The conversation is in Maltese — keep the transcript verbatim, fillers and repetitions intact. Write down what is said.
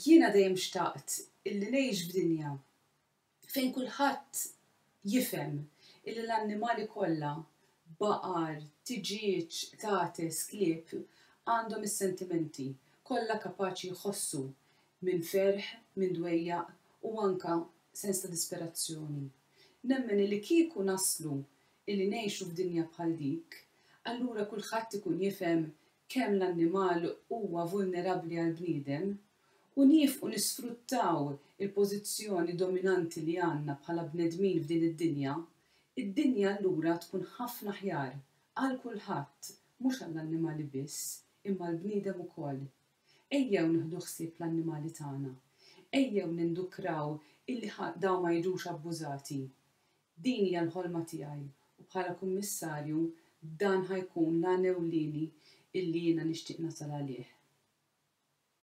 Jiena dejjem xtaqt illi ngħix f'dinja fejn kulħadd jifhem illi l-annimali kollha, baqar, tiġieġ, qtates, klieb, għandhom is-sentimenti, kollha kapaċi jħossu minn ferħ, minn dwejjaq u anka sens ta' disperazzjoni. Nemmen li kieku naslu illi ngħixu f'dinja bħal dik, allura kulħadd ikun jifhem kemm l-annimal huwa vulnerabbli għall-bniedem u nieqfu nisfruttaw il-pożizzjoni dominanti li għandna bħala bnedmin f'din id-dinja, id-dinja allura tkun ħafna aħjar għal kulħadd, mhux għall-annimali biss, imma l-bniedem ukoll. Ejjew nieħdu ħsieb l-annimali tagħna. Ejjew nindukraw illi dawn ma jiġux abbużati. Din hija l-ħolma tiegħi u bħala kummissarju dan ħa jkun l-għan ewlieni illi jiena nixtieq nasal għalih.